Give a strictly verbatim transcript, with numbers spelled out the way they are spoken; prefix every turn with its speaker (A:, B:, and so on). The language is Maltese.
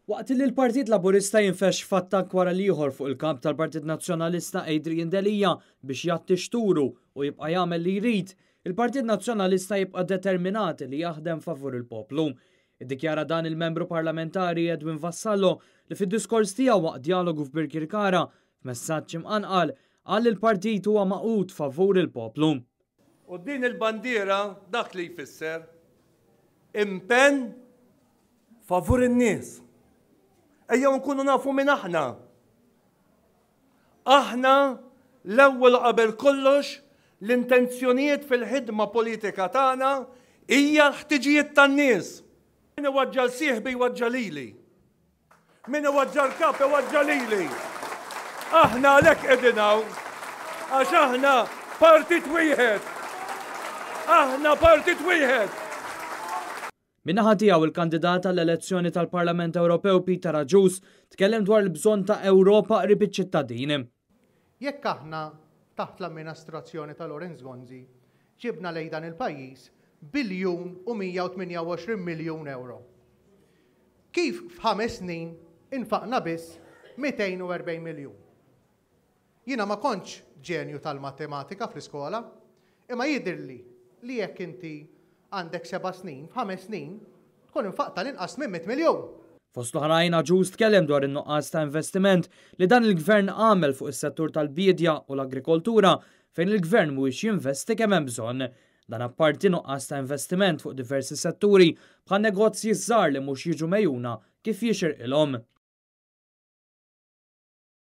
A: Waqt li l-Partit Laburista jinfex f'attakk wara l-ieħor fuq il-kap tal-Partit Nazzjonalista Adrian Delia biex jgħatti xturu u jibqa' jagħmel li jrid, il-Partit Nazzjonalista jibqa' determinat li jaħdem favur il-poplu. Iddikjara dan il-membru parlamentari Edwin Vassallo li fid-diskors tiegħu waqt djalogu f'Birkirkara, f'messaġġ imqanqal, qal li l-partit huwa magħqud favur il-poplu.
B: U din il-bandiera dak li jfisser impenn favur in-nies. Ejjew nkunu nafu min aħna. Aħna l-ewwel qabel kollox l-intenzjonijiet fil-ħidma politika tagħna hija l-ħtiġijiet tan-nies. Min iwaġġal sieħbi jwaġġa lili. Min iwaġġa l-kap iwaġġa lili. Aħna għalhekk qegħdin hawn. Għax aħna partit wieħed. Aħna partit wieħed.
A: Min-naħa tiegħu, il-kandidat għall-elezzjoni tal-Parlament Ewropew Peter Agius tkellem dwar il-bżonn ta' Ewropa qrib iċ-ċittadini.
C: Jekk aħna taħt l-amministrazzjoni ta' Lawrence Gonzi ġibna lejn dan il-pajjiż biljun u mija u tmienja u għoxrin miljun euro, kif f'ħames snin infaqna biss mitejn u erbgħin miljun? Jiena ma kontx ġenju tal-matematika fl-iskola, imma jidhirli li jekk inti għandek seba' snin, f'ħames snin, tkun infaqta l-inqas minn mitt miljun.
A: Fost l-oħrajn, Agius tkellem dwar in-nuqqas ta' investiment li dan il-gvern għamel fuq is-settur tal-bidja u l-agrikoltura, fejn il-gvern mhuwiex jinvesti kemm hemm bżonn. Dan apparti nuqqas ta' investiment fuq diversi setturi bħal negozji żgħar li mhux jiġu megħjuna kif jixirqilhom.